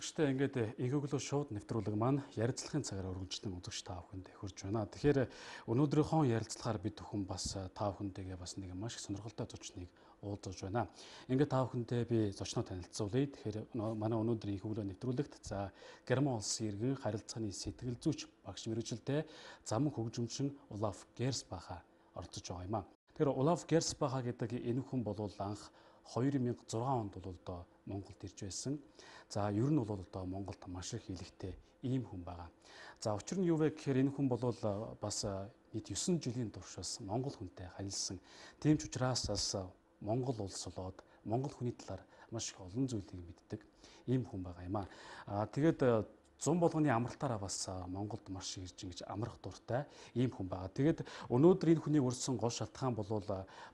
үзэгчтэй ингээд инхөглөө шууд нэвтрүүлэг маань ярилцлагын цагаар өргөжлөн үзэгч та бүхэнд хүрж байна. Тэгэхээр өнөөдрийнхөө ярилцлагаар бид бүхэн бас та бүхэнтэйгээ бас нэг маш их сонирхолтой зочныг уулзаж байна. Ингээд та бүхэнтэй би зочноо танилцуулъя. Тэгэхээр манай өнөөдрийн инхөглөө нэвтрүүлэгт за Герман улсын иргэн харилцааны сэтгэл зүйч багш мэргэжилтэй зам хөгжимчин Улаф Герсбаха оролцож байгаа юм аа. Тэгэхээр Улаф Герсбаха гэдэг энэ хүн бол анх 2006 онд бол одоо Монголд ирж байсан. За ер нь бол одоо Монголд маш их хэлэхтэй ийм хүн байгаа. За учир нь юу вэ гэхээр энэ хүн бол бас нийт 9 жилийн туршаас Монгол хүнтэй харилцсан. Тийм ч учраас бас Монгол улс болоод Монгол хүний талаар маш их олон зүйлийг мэддэг ийм хүн байгаа юм аа. Тэгээд зун болгоны амралтаараа бас Монголд маш ирж ингэж амрах дуртай ийм хүн байгаа. Тэгээд өнөөдөр энэ хүнийг өрсөн гол шалтгаан бол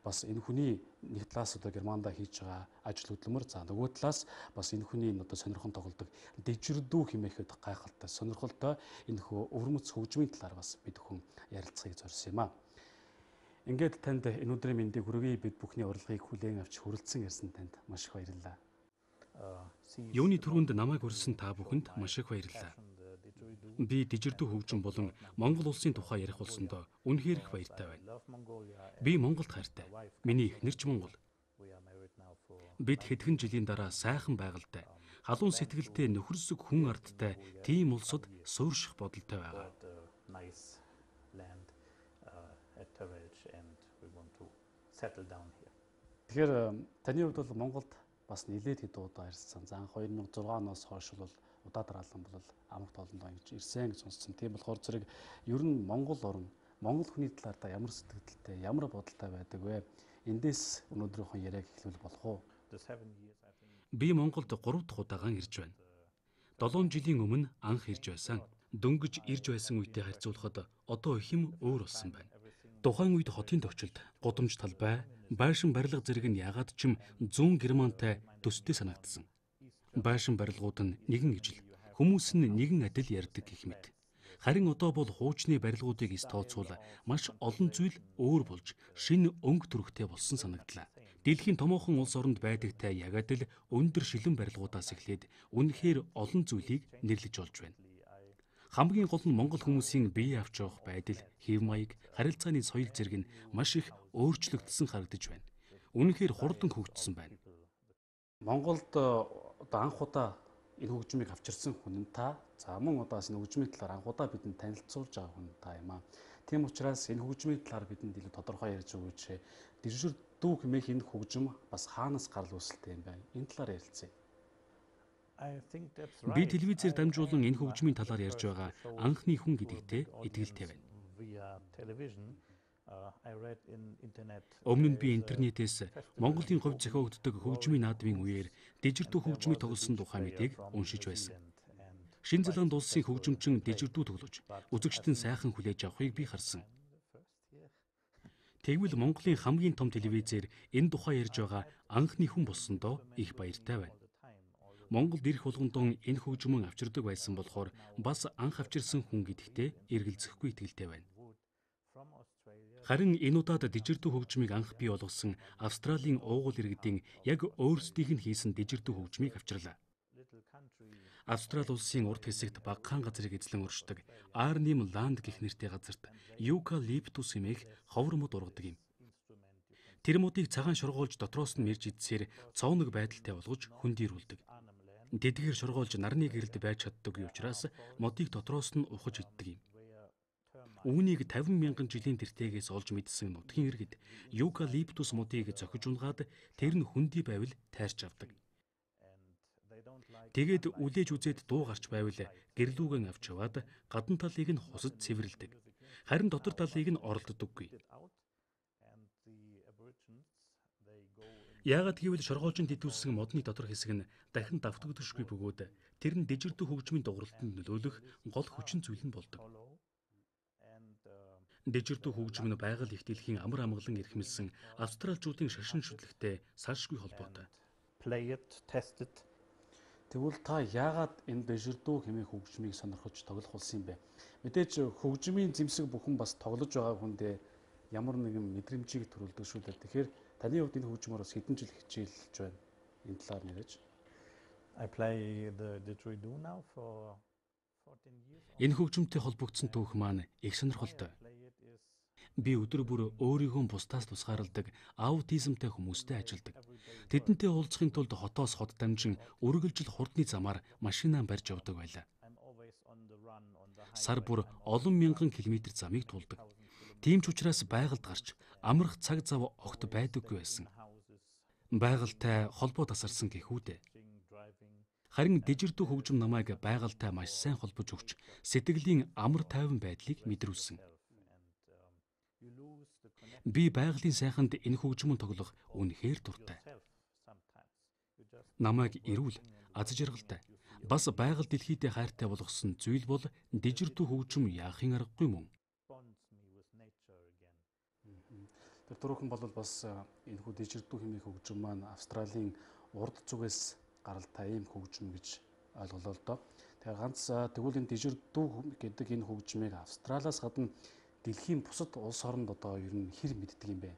бас энэ хүний нэг талаас одоо Германд хийж байгаа ажил хөдөлмөр, за нөгөө талаас бас энэ хүний одоо сонирхон тоглодог дижирдүү хэмээхэд гайхалтай сонирхолтой энэ хөө өвөрмөц хөгжмийн талаар бас бид хүн ярилцахыг зорьсон юм аа. Ингээд танд энэ өдрийн мэндийг хүргэе, бид бүхний урилгыг хүлээн авч хүрэлцэн ирсэн танд маш их баярлалаа. Юуны түрүүнд намайг урьсан та бүхэнд маш их баярлалаа. Би дижирдүү хөгжим болон Монгол улсын тухай ярих болсондоо үнэхээр их баяртай байна. Би Монголд хайртай. Миний эхнэр ч Монгол. Бид хэдхэн жилийн дараа сайхан байгальтай, халуун сэтгэлтэй нөхөрсөг хүн ардтай тийм улсад суурших бодолтой байгаа. Тэгэхээр таны хувьд бол Монголд бас нэлээд хэд удаа ирсэн. За 2006 оноос хойш бол удаа дараалан бол амрагт олондоо ингэж ирсэн гэж сонссон. Тийм болохоор зэрэг ер нь Монгол орн, Монгол хүний талаар та ямар сэтгэлдэлтэй, ямар бодолтой байдаг вэ? Эндээс өнөөдрийнхөө яриаг эхлүүл болох уу? Би Монголд 3 дахь удаагаан ирж байна. 7 жилийн өмнө анх ирж байсан. Дөнгөж ирж байсан үедээ харьцуулахад одоо их юм өөр болсон байна. Тухайн үед хотын төвчөлд гудамж талбай, байшин барилга зэрэг нь ягаад ч юм зүүн Германтай төстэй санагдсан. Байшин барилгууд нь нэгэн ижил, хүмүүс нь нэгэн адил ярьдаг гэх мэт. Харин одоо бол хуучны барилгуудыг тооцвол маш олон зүйл өөр болж шинэ өнгө төрхтэй болсон санагдлаа. Дэлхийн томоохон улс оронд байдагтай яг адил өндөр шилэн барилгуудаас эхлээд үнэхээр олон зүйлийг нэрлэж олж байна. Хамгийн гол нь Монгол хүмүүсийн бие авч явах байдал, хэв маяг, харилцааны соёл зэрэг нь маш их өөрчлөгдсөн харагдаж байна. Үнэхээр хурдан хөгжсөн байна. Монголд одоо анх удаа энэ хөгжмийг авчирсан хүн нь та. За мөн удаас энэ хөгжмийн талаар анх удаа бидэнд танилцуулж байгаа хүн та юм аа. Тийм учраас энэ хөгжмийн талаар бидэнд илүү тодорхой ярьж өгөөч. Дижирдүү хэмээх энэ хөгжим бас хаанаас гарал үүсэлтэй юм бэ? Энэ талаар ярилцъя. Би телевизээр дамжуулан энэ хөгжмийн талаар ярьж байгаа анхны хүн гэдэгтээ итгэлтэй байна. Өмнө нь би интернетээс Монголын хувьд зохиогддог хөгжмийн наадмын үеэр дижирдүү хөгжмийг тоглосон тухай мэдээг уншиж байсан. Шинэ Зеланд улсын хөгжимчин дижирдүү тоглож, үзэгчдэн сайхан хүлээж авахыг би харсан. Тэгвэл Монголын хамгийн том телевизээр энэ тухай ярьж байгаа анхны хүн болсондоо их баяртай байна. Монголд ирэх болгондоо энэ хөгжмөн авчирдаг байсан болохоор бас анх авчирсан хүн гэдэгтээ эргэлзэхгүй итгэлтэй байна. Харин энэ удаад дижирдүү хөгжмийг анх бий болгосон Австралийн уугуул иргэдийн яг өөрсдийнх нь хийсэн дижирдүү хөгжмийг авчирлаа. Австрали улсын урд хэсэгт багахан газрыг эзлэн уршдаг Арним Ланд гэх нэртэй газарт Юкалиптус хэмээх ховор мод ургадаг юм. Тэр модыг цагаан шоргоолж дотроос нь мэрж идсээр цооног байдалтай болгож хөндийрүүлдэг. Тэдгээр шоргоолж нарны гэрэлд байж чаддаггүй учраас модыг дотроос нь ухаж иддэг юм. Үүнийг 50 мянган жилийн тэртегээс олж мэдсэн нутгийн иргэд Юкалиптус модыг зохиж унгаад тэр нь хөндөй байвал тайрч авдаг. Тэгээд үлээж үзээд дуу гарч байвал гэрлүүгэн авч яваад гадна талыг нь хусад цэвэрлэдэг. Харин дотор талыг нь оролддоггүй. Яагаад гэвэл шоргоолжинд идүүлсэн модны дотор хэсэг нь дахин давтагддаггүй бөгөөд тэр нь дижирдүү хөгжмийн дууралтанд нөлөөлөх гол хүчин зүйл нь болдог. Дижирдүү хөгжим нь байгаль их дэлхийн амар амгалан эрхэмлсэн австралчуудын шашин шүтлэгтэй салшгүй холбоотой. Тэгвэл та яагаад энэ дижирдүү хэмээх хөгжмийг сонирхож тоглох болсон юм бэ? Мэдээж хөгжмийн зэмсэг бүхэн бас тоглож байгаа хүндээ ямар нэгэн мэдрэмжийг төрүүлдэг шүү дээ. Тэгэхээр таны хувьд энэ хөгжмөөр бас хэдэн жил хичээлж байна? Энэ талаар нэрэж. I play the didgeridoo now for 14 years. Энэ хөгжмөнтэй холбогдсон түүх маань их сонирхолтой. Play it is Би өдөр бүр өөрийгөө бусдаас тусгаарладаг аутизмтай хүмүүстэй ажилладаг. Тэдэнтэй уулзахын тулд хотоос хот дамжин үргэлжил хурдны замаар машинаа барьж явдаг байлаа. I'm always on the run on the Сар бүр олон мянган километр замыг туулдаг. Тийм ч учраас байгальд гарч амрах цаг зав огт байдаггүй байсан. houses, Байгальтай холбоо тасарсан гэхүүдээ. driving. Харин дижирдүү хөгжим намайг байгальтай маш сайн холбож өгч сэтгэлийн амар тайван байдлыг мэдрүүлсэн. You lose the connection Би байгалийн сайханд энэ хөгжмөн тоглох үнэхээр дуртай. yourself sometimes. You just Намайг эрүүл, аз жаргалтай, бас байгаль дэлхийдээ хайртай болгосон зүйл бол дижирдүү хөгжим яахын аргагүй мөн. bonds me with nature again. Тэр түрүүхэн бол бас энэ хүү дижирдүү хэмээх хөгжим маань Австралийн урд зүгээс гаралтай ийм хөгжим гэж ойлголоо л доо. Тэгэхээр ганц тэгвэл энэ дижирдүү гэдэг энэ хөгжмийг Австралиас гадна дэлхийн бусад улс оронд одоо ер нь хэр мэддэг юм бэ?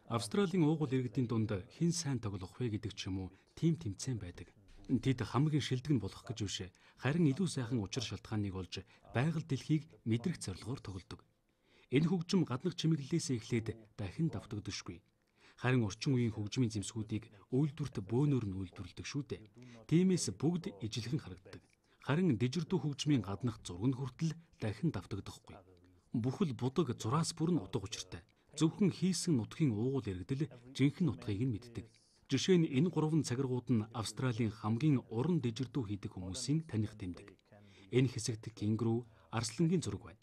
Австралийн уугуул иргэдийн дунд хэн сайн тоглох вэ гэдэг ч юм уу тим тэмцээн байдаг. Тэд хамгийн шилдэг нь болох гэж биш, харин илүү сайхан учир шалтгааныг олж байгаль дэлхийг мэдрэх зорилгоор тоглодог. Энэ хөгжим гаднах чимэглэлээс эхлээд дахин давтагддаггүй. Харин орчин үеийн хөгжмийн зэмсгүүдийг үйлдвэрт бөөнөр нь үйлдвэрлэдэг шүү дээ. Тиймээс бүгд ижилхэн харагддаг. Харин дижирдүү хөгжмийн гаднах зураг нь хүртэл дахин давтагдахгүй. Бүхэл будаг зураас бүрэн утга учиртай. Зөвхөн хийсэн нутгийн уугуул иргэдэл жинхэнэ нутгийг нь мэддэг. Жишээ нь энэ 3 цагиргууд нь Австралийн хамгийн уран дижирдүү хийдэг хүмүүсийн таних тэмдэг. Энэ хэсэгт кенгуру, арслангийн зураг байна.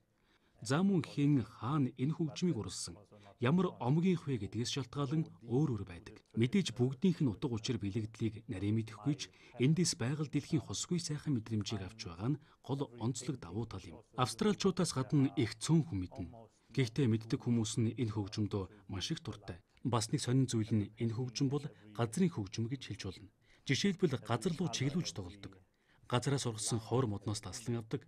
За мөн хэн хаана энэ хөгжмийг уралсан, ямар омгийнх вэ гэдгээс шалтгаалan өөр байдаг. Мэдээж бүгдийнх нь утга учир бэлэгдлийг нарийн мэдэхгүй ч эндээс байгаль дэлхийн хосгүй сайхан мэдрэмжийг авч байгаа нь гол онцлог давуу тал юм. Австралчуудаас гадна их цөөн хүн мэднэ. Гэхдээ мэддэг хүмүүс нь энэ хөгжмөдөө маш их дуртай. Бас нэг сонин зүйл нь энэ хөгжим бол газрын хөгжим гэж хэлж болно. Жишээлбэл газар руу чиглүүлж тоглодог. Газараас ургасан ховор модноос таслан авдаг.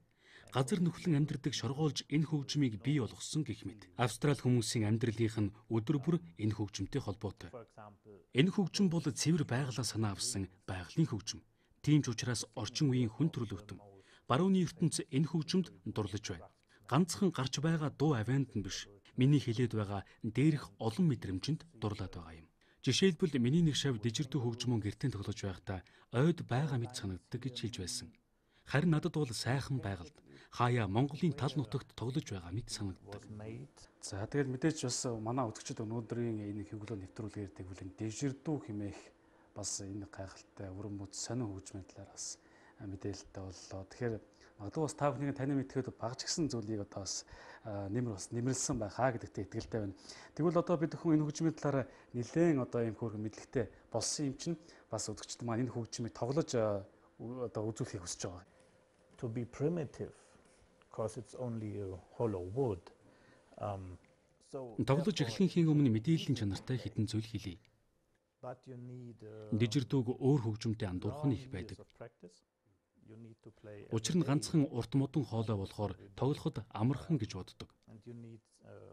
Газар нөхлөн амьдардаг шоргоолж энэ хөгжмийг бий болгосон гэх мэт. Австрали хүмүүсийн амьдралынх нь өдөр бүр энэ хөгжмөнтэй холбоотой. For example, Энэ хөгжим бол цэвэр байгалаа санаа авсан байгалийн хөгжим. Тийм ч учраас орчин үеийн хүн төрөлхтөн барууны ертөнц энэ хөгжимд дурлаж байна. Ганцхан гарч байгаа дуу авианд нь биш. Миний хэлээд байгаа дээрх олон мэдрэмжинд дурлаад байгаа юм. Жишээлбэл миний нэг шав дижирдүү хөгжмөн гэртээ тоглож байхдаа ойд байгаа мэт санагддаг гэж хэлж байсан. Харин надад бол сайхан байгальд хаяа Монголын тал нутагт тоглож байгаа мэт санагддаг. was made. За тэгэл мэдээж бас манай үзэгчид өнөөдрийн энэ хэвлэл нэвтрүүлгээр тэгвэл дижирдүү хэмээх бас энэ гайхалтай өрөн бүц сонин хөгжмийн талаар бас мэдээлэлтэй боллоо. Тэгэхээр магадгүй бас та бүхний таны мэдхэд багч гисэн зүйлийг одоо бас нэмэрлсэн байхаа гэдэгт итгэлтэй байна. Тэгвэл одоо бид бүхэн энэ хөгжмийн талаар нэлээд одоо ийм хөөрхөн мэдлэгтэй болсон юм чинь бас үзэгчид маань энэ хөгжмийг тоглож одоо үзүүлэхийг хүсэж байгаа. To be primitive, because it's only a hollow wood. So Тоглож эхлэхийн өмнө мэдээллийн чанартай хэдэн зүйл хэлье. but you need Дижирдүүг өөр хөгжмөнтэй андуурах нь их байдаг. of practice. You need to play Учир нь ганцхан урт модон хоолой болохоор тоглоход амархан гэж боддог. and you need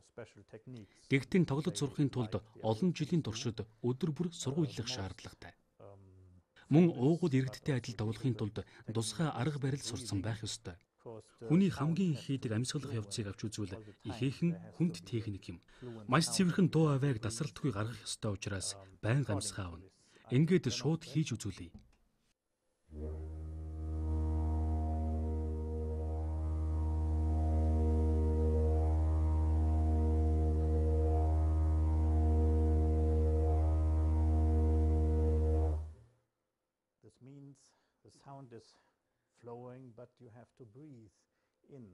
special techniques. Гэхдээ тоглож сурахын тулд олон жилийн туршид өдөр бүр сургуулилах шаардлагатай. Мөн уугуул иргэдтэй адил тоглохын тулд тусгай арга барил сурсан байх ёстой. Хүний хамгийн их хийдэг амьсгалах явцыг авч үзвэл ихээхэн хүнд техник юм. Маш цэвэрхэн дуу авайг тасралтгүй гаргах ёстой учраас байнга амьсгаа авна. Ингээд шууд хийж үзүүлье. This means the sound is flowing, but you have to breathe in.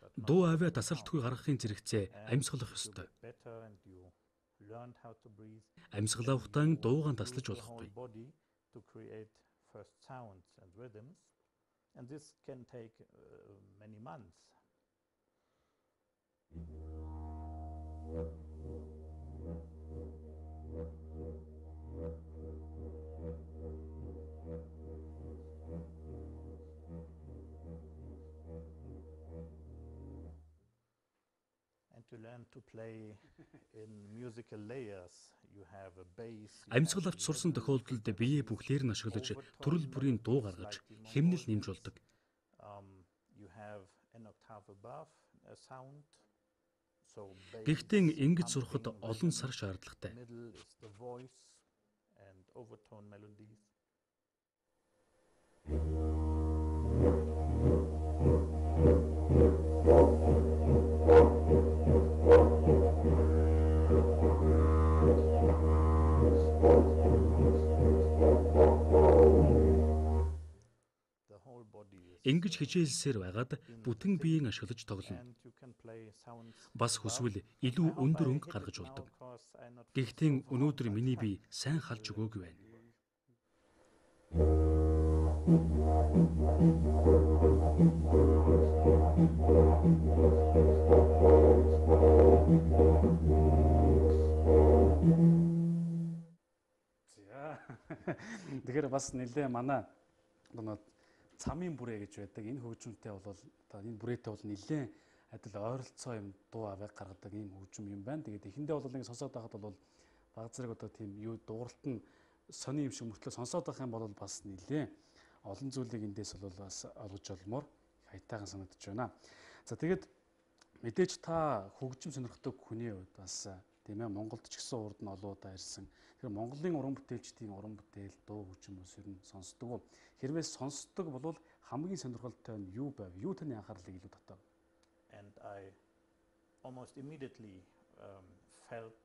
But not Дуу аваа тасралтгүй гаргахын зэрэгцээ амьсгалах ёстой. better, and you learned how to breathe. Амьсгалаа ухтан дуугаан таслаж болохгүй. Whole body to create first sounds and rhythms, and this can take many months. And to learn to play in musical layers, Амьсгал авч сурсан тохиолдолд биеэ бүхлээр нь ашиглаж төрөл бүрийн дуу гаргаж хэмнэл нэмж болдог. Гэхдээ ингэж сурахад олон сар шаардлагатай. Ингэж хичээлсээр байгаад бүтэн биеийн ашиглаж тоглоно. Бас хүсвэл илүү өндөр өнгө гаргаж болдог. Гэхдээ өнөөдөр миний бие сайн халж өгөөгүй байна. Тэгэхээр бас нэлээ манай цамын бүрээ гэж байдаг. Энэ хөгжмөнтэй бол одоо энэ бүрээтэй бол нэлээд адил ойролцоо юм дуу авыг гаргадаг ийм хөгжим юм байна. Тэгээд эхэндээ бол ингэ сонсоод байхад бол баг зэрэг одоо тийм юу дууралт нь сони юм шиг мөртлөө сонсоод байх юм бол бас нэлээд олон зүйлийг эндээс бол бас олж олмоор хайтайхан санагдаж байна. За тэгээд мэдээж та хөгжим сонирхдаг хүний хувьд бас тийм ээ Монголд ч гэсэн урд нь олоодаа ирсэн. Тэгэхээр Монголын уран бүтээлчдийн уран бүтээл дуу хөгжим ус ер нь сонсдог. Хэрвээ сонсдог бол хамгийн сонирхолтой нь юу байв? Юу таны анхаарлыг илүү татав? And I almost immediately felt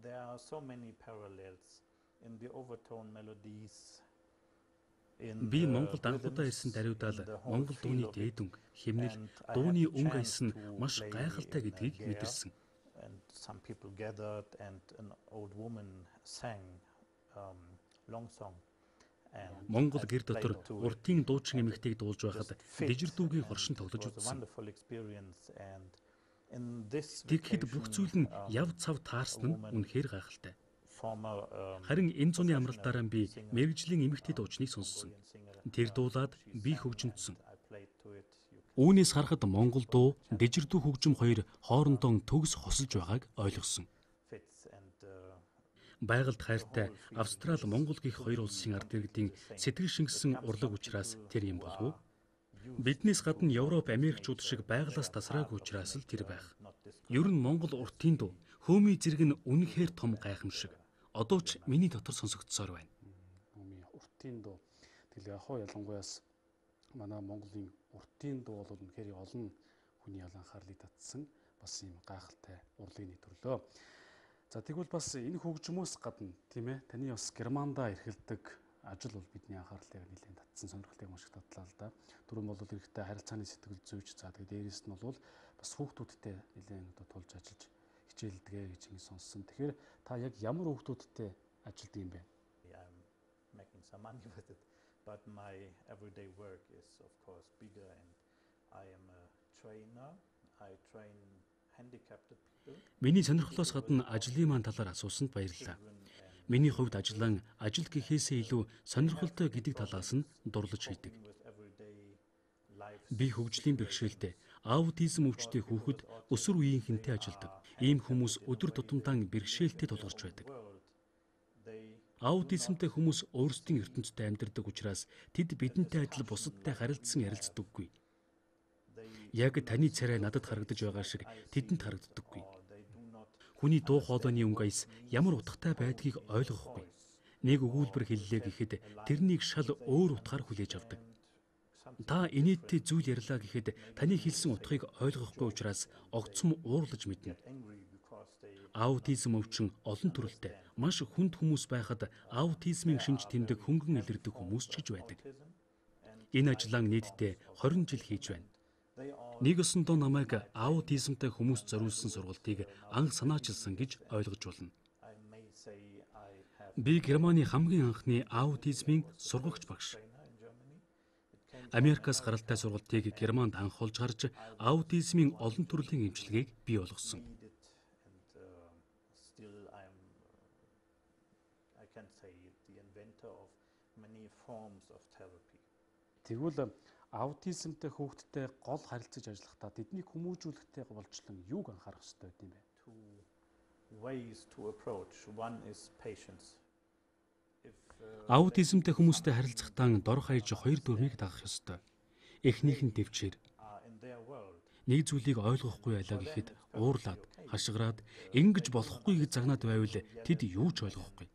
there are so many parallels in the overtone melodies. Би Монголд анхудаа ирсэн даруйдаал Монгол дууны дээд өнгө, хэмнэл, дууны өнгө аяс нь маш гайхалтай гэдгийг мэдэрсэн. And some people gathered and an old woman sang long song. Монгол гэр дотор уртын дуучин эмэгтэйг дуулж байхад дижир дүүгийн хоршин тоглож үзсэн. Тэгэхэд бүх зүйл нь яв цав таарсан нь үнэхээр гайхалтай. Харин энэ зуны амралтаараа би мэргэжлийн эмэгтэй дуучныг сонссон. Тэр дуулаад би хөгжимдсөн. Үүнээс харахад Монгол дуу, дижир дүү хөгжим хоёр хоорондоо төгс хосолж байгааг ойлгосон. Байгальд хайртай Австрали, Монгол гэх хоёр улсын ард иргэдийн сэтгэл шингэсэн урлаг учраас тэр юм болов уу? Биднээс гадна Европ, Америкчууд шиг байгалаас тасраагүй учраас л тэр байх. Ер нь Монгол уртын дуу, хөөмий зэрэг нь үнэхээр том гайхамшиг. Одоо ч миний дотор сонсогдсоор байна. Уртын дуу. Тэгэл яг хоо ялангуяас манай Монголын уртын дуу бол үнэхээр олон хүний анхаарлыг татсан бас юм гайхалтай урлагийн нэг төрлөө. За тэгвэл бас энэ хөгжмөөс гадна тийм ээ таны бас Германда эрхэлдэг ажил бол бидний анхаарлыг нэлээд татсан, сонирхлыг маш их татлаа л да. Түрүүн бол эрэгтэй харилцааны сэтгэл зүйч, за тэгээд дээрээс нь бол бас хүүхдүүдтэй нэлээд одоо тулж ажиллаж хичээлдэгэ гэж ингэ сонссон. Тэгэхээр та яг ямар хүүхдүүдтэй ажилдаг юм бэ? I'm making some money with it, but my everyday work is of course bigger, and I am a trainer. I train handicapped people. Миний сонирхлоос гадна ажлын маань талаар асуусанд баярлалаа. Миний хувьд ажил гэхээсээ илүү сонирхолтой гэдэг талаас нь дурлаж хийдэг. Би хөгжлийн бэрхшээлтэй, аутизм өвчтэй хүүхэд өсвөр үеийнхэнтэй ажилдаг. Ийм хүмүүс өдөр тутамдаа бэрхшээлтэй тулгарч байдаг. Аутизмтай хүмүүс өөрсдийн ертөнцид амьдардаг учраас тэд бидэнтэй адил бусадтай харилцсан ярилцдаггүй. Яг таны царай надад харагдаж байгаа шиг тэдэнд харагддаггүй. Хүний дуу хоолойны өнгө аяс ямар утгатай байдгийг ойлгохгүй. Нэг өгүүлбэр хэллээ гэхэд тэрнийг шал өөр утгаар хүлээж авдаг. Та инээдтэй зүйл ярьлаа гэхэд таны хэлсэн утгыг ойлгохгүй учраас огцом уурлаж мэднэ. Аутизм өвчин олон төрөлтэй. Маш хүнд хүмүүс байхад аутизмын шинж тэмдэг хөнгөн илэрдэг хүмүүс ч гэж байдаг. Энэ ажлаа нийтдээ 20 жил хийж байна. Нэг өсөндөө намайг аутизмтай хүмүүс зориулсан сургалтыг анх санаачилсан гэж ойлгож болно. Би Германы хамгийн анхны аутизмын сургагч багш. Америкаас гаралтай сургалтыг Германд анх олж гарч аутизмын олон төрлийн эмчилгээг бий болгосон. Тэгвэл аутизмтай хүүхдтэй гол харилцаж ажиллахдаа тэднийг хүмүүжүүлэхдээ голчлон юуг анхаарах хэрэгтэй юм бэ? ways to approach. One is patience. Аутизмтай хүмүүстэй харилцахдаа дор хаяж хоёр дүрмийг дагах ёстой. Эхнийх нь төвчээр. Нэг зүйлийг ойлгохгүй байлаа гэхэд уурлаад, хашгираад, ингэж болохгүй гэж загнаад байвал тэд юу ч ойлгохгүй.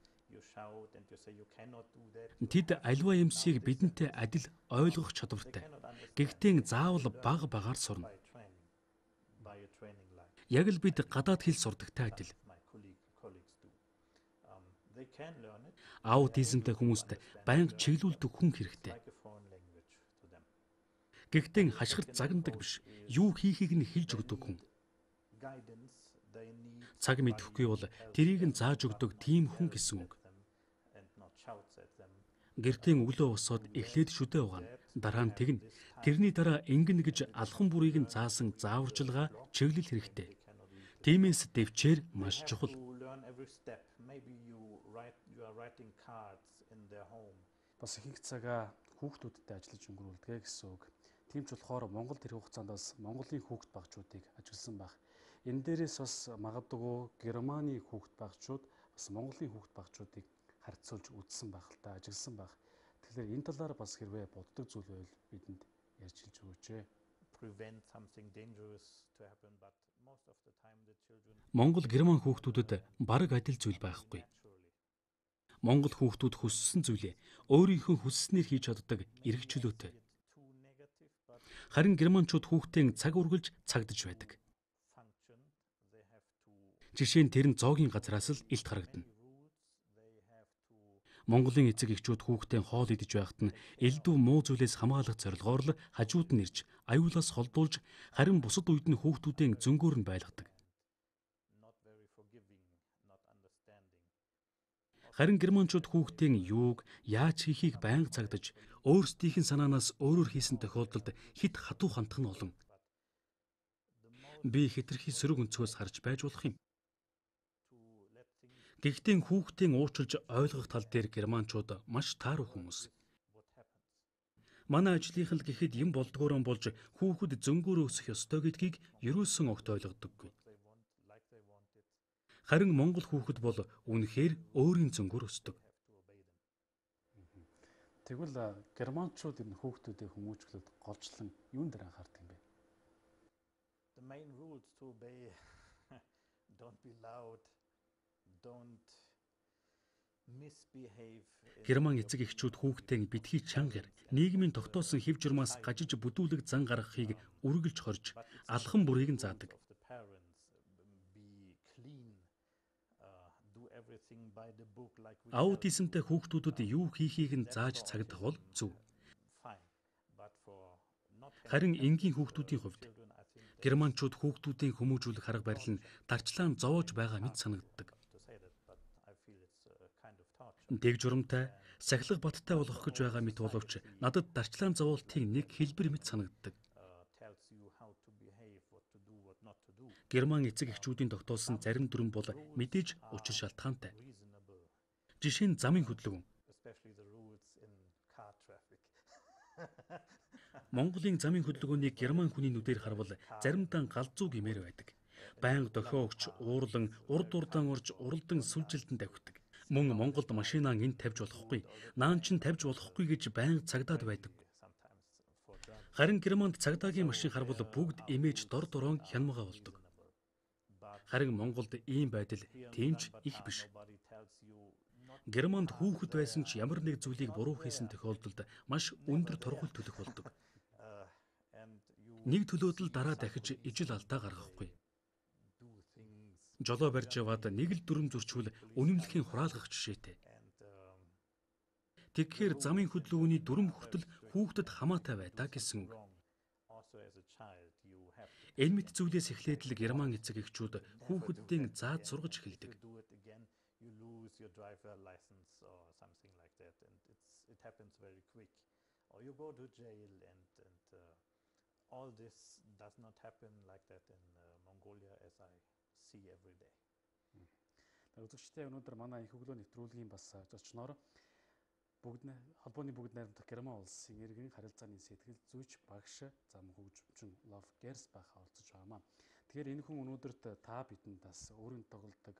Тэд аливаа юмсыг бидэнтэй адил ойлгох чадвартай. Гэхдээ заавал бага багаар сурна. Яг л бид гадаад хэл сурдагтай адил. Аутизмтай хүмүүст байнга чиглүүлдэг хүн хэрэгтэй. Гэхдээ хашгирт загнадаг биш. Юу хийхийг нь хэлж өгдөг хүн. Цаг мэдэхгүй бол тэрийг нь зааж өгдөг тийм хүн гэсэн үг. Гэртээ өглөө босоод эхлээд шүдэ угаана. Дараа нь тэгнэ. Тэрний дараа ингэнэ гэж алхан бүрийг нь заасан зааварчилгаа чиглэл хэрэгтэй. Тиймээс дэвчээр маш чухал. Бас их цагаа хүүхдүүдтэй ажиллаж өнгөрүүлдэг гэсэн үг. Тийм ч болохоор Монгол тэр хугацаанд бас Монголын хүүхд багчуудыг ажилласан байх. Энэ дээрээс бас магадгүй Германы хүүхд багчууд бас Монголын хүүхд багчуудыг харьцуулж үзсэн байх л та, ажилласан байх. Тэгэхээр энэ талаар бас хэрвээ боддог зүйл байвал бидэнд ярьж хэлж өгөөч. Монгол Герман хүүхдүүдэд бараг адил зүйл байхгүй. Монгол хүүхдүүд хүссэн зүйлээ өөрийнхөө хүсснээр хийж чаддаг эрх чөлөөтэй. Харин германчууд хүүхдийн цаг үргэлж цагдж байдаг. Жишээ нь тэр нь зоогийн газраас л илт харагдана. Монголын эцэг эхчүүд хүүхдийн хоол идэж байхад нь элдв муу зүйлээс хамгаалах зорилгоор л хажууд нь ирж, аюулаас холдуулж, харин бусад үед нь хүүхдүүдийн зөнгөөр нь байлгадаг. Харин германчууд хүүхдийн юуг, яаж хийхийг байнга цагдаж, өөрсдийнх нь санаанаас өөрөөр хийсэн тохиолдолд хит хатуу хандах нь олон. Би хэтэрхий сөрөг өнцгөөс харж байж болох юм. Гэхдээ хүүхдийн уучлж ойлгох тал дээр германчууд маш тааруу хүмүүс. Манай ажлынхан л гэхэд юм болдгоорон болж хүүхэд зөнгөөр өсөх ёстой гэдгийг ерөөсөн огт ойлгодоггүй. Харин Монгол хүүхэд бол үнэхээр өөрийн зөнгөөр өсдөг. Тэгвэл германчууд энэ хүүхдүүдийг хүмүүжүүлээд голчлон юун дээр анхаардаг юм бэ? The main rules to obey don't be loud, don't misbehave. Герман эцэг эхчүүд хүүхдээ битгий чангаар нийгмийн тогтоосон хэв журмаас гажиж бүдүүлэг зан гаргахыг үргэлж хорж алхан бүрийг нь заадаг. Аутизмтай хүүхдүүдэд юу хийхийг нь зааж цагдах бол зөв. Харин энгийн хүүхдүүдийн хувьд германчууд хүүхдүүдийн хүмүүжүүлэх арга барил нь дарчлаан зовоож байгаа мэт санагддаг. Дэг журамтай, сахилга баттай болох гэж байгаа мэт боловч надад дарчлаан зовоолтыг нэг хэлбэр мэт санагддаг. Герман эцэг эхчүүдийн тогтоосон зарим дүрм бол мэдээж учир шалтгаантай. Жишээ нь замын хөдөлгөөн. Монголын замын хөдөлгөөнийг герман хүний нүдээр харвал заримдаа галзуу гэмээр байдаг. Байнга дохио өгч, уурлан, урд урдаан орж, уралдан сүлжилтэн давхидаг. Мөн Монголд машинаа энд тавьж болохгүй, наан чин тавьж болохгүй гэж байнга цагдаад байдаг. Харин Германд цагдаагийн машин харвал бүгд имэж дор дороо хянамга болдог. Харин Монголд ийм байдал тэмч их биш. Германд хүүхэд байсан ч ямар нэг зүйлийг буруу хийсэн тохиолдолд маш өндөр торгууль төлөх болдог. Нэг төлөөд л дараа дахиж ижил алдаа гаргахгүй. Жолоо барьж яваад нэг л дүрм зөрчвөл үнэмлэхийн хураалгах жишээтэй. Тэгэхээр замын хөдөлгөөний дүрм хүртэл хүүхдэд хамаатай байдаа гэсэн үг. Энэ мэт зүйлээс эхлээд л герман эцэг эхчүүд хүүхэддийн зааж сургаж эхэлдэг. Үзэгчдээ өнөөдөр манай их өглөө нэвтрүүлгийн бас зочноор холбооны бүгд найрамдах Герман улсын иргэн харилцааны сэтгэл зүйч багш зам хөгжимчин Лов Герсбах оролцож байгаамаа. Тэгэхээр энэ хүн өнөөдөрт та бидэнд бас өөрийн тоглодог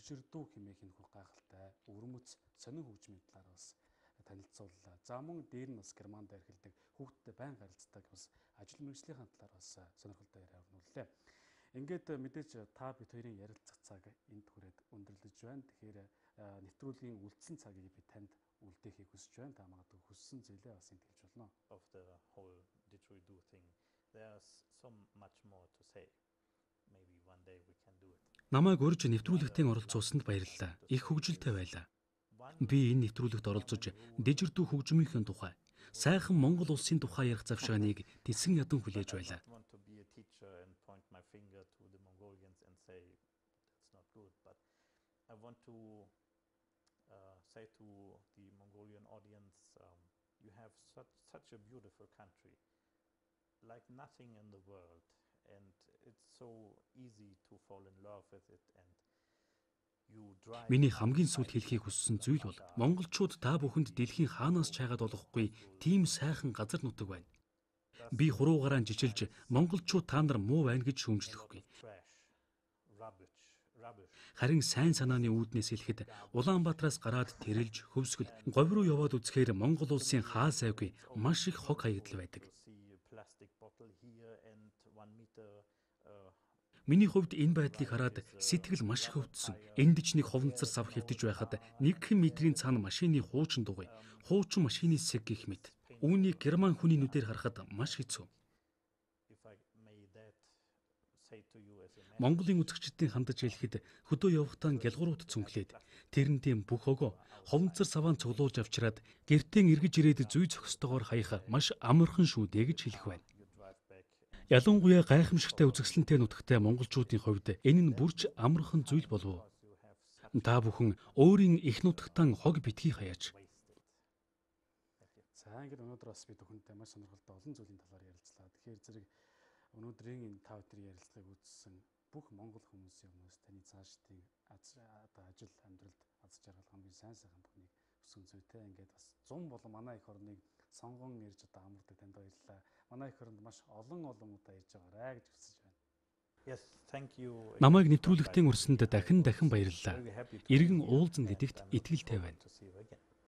дижирдүү хэмээх энэ хүү гайхалтай өвөрмөц сонин хөгжмийн талаар бас танилцууллаа. За мөн дээр нь бас германд эрхэлдэг хүүхдтэй байн харилцдаг бас ажил мэргэжлийн талаар бас сонирхолтой яриа өрнүүллээ. Ингээд мэдээж та бид хоёрын ярилцах цаг энд хүрээд өндөрлөж байна. Тэгэхээр нэвтрүүлгийн үлдсэн цагийг би танд үлдээхийг хүсэж байна. Та магадгүй хүссэн зүйлээ бас энд хэлж болно. Of the whole didgeridoo thing, there's so much more to say. Maybe one day we can do it. Намайг урьж нэвтрүүлэгтээ оролцуулсанд баярлалаа. Их хөгжилтэй байлаа. Би энэ нэвтрүүлэгт оролцож дижирдүү хөгжмийнхээ тухай, сайхан Монгол улсын тухай ярих завшааныг тэсэн ядан хүлээж байлаа. I want to be a teacher and point my finger to the Mongolians and say that's not good, but I want to say to the Mongolian audience, you have such a beautiful country, like nothing in the world, and it's so easy to fall in love with it. And Миний хамгийн сүүлд хэлхийг хүссэн зүйл бол монголчууд та бүхэнд дэлхийн хаанаас чайгаад болохгүй тийм сайхан газар нутаг байна. Би хуруугараа жижилж монголчууд та нар муу байна гэж шүүмжлэхгүй. Харин сайн санааны үүднээс хэлэхэд Улаанбаатараас гараад тэрэлж хөвсгөл говь руу яваад үзэхээр Монгол улсын хаа сайгүй маш их хог хаягдал байдаг. Миний хувьд энэ байдлыг хараад сэтгэл маш их өвдсөн. Энд ч нэг ховнцар сав хэвтэж байхад 1 метрийн цаана машины хуучин дугуй, хуучин машины сэг гэх мэт. Үүнийг герман хүний нүдээр харахад маш хэцүү. Монголын үзэгчдийн хандаж хэлэхэд хөдөө явахдаа гялгуурууд цүнхлээд тэрнтийн бүх өгөө ховнцар саваан цуглуулж авчираад гэртээ эргэж ирээд зүй зохистойгоор хаях маш амархан шүү дээ гэж хэлэх байна. Ялангуяа гайхамшигтай үзэсгэлэнтэй нутагтай монголчуудын хувьд энэ нь бүрч амархан зүйл болов. Та бүхэн өөрийн их нутагтаа хог битгий хаяач. За ингээд өнөөдөр бас бид бүхэнтэй маш сонирхолтой олон зүйлийн талаар ярилцлаа. Тэгэхээр зэрэг өнөөдрийн энэ та бүхний ярилцлагыг үзсэн бүх монгол хүмүүсийн өмнөөс таны цаашдын ажил амьдралд аз жаргал хамгийн сайн сайхан бүхнийг өсгөн зүйтэй ингээд бас 100 болон манай их орныг сонгон ирж одоо амардаг танд баярлалаа. Манай их оронд маш олон удаа ирж байгаарай гэж хүсэж байна. Yes, thank you. Намайг нэвтрүүлэгтийн урсанд дахин баярлалаа. Иргэн уулзсан гэдэгт итгэлтэй байна.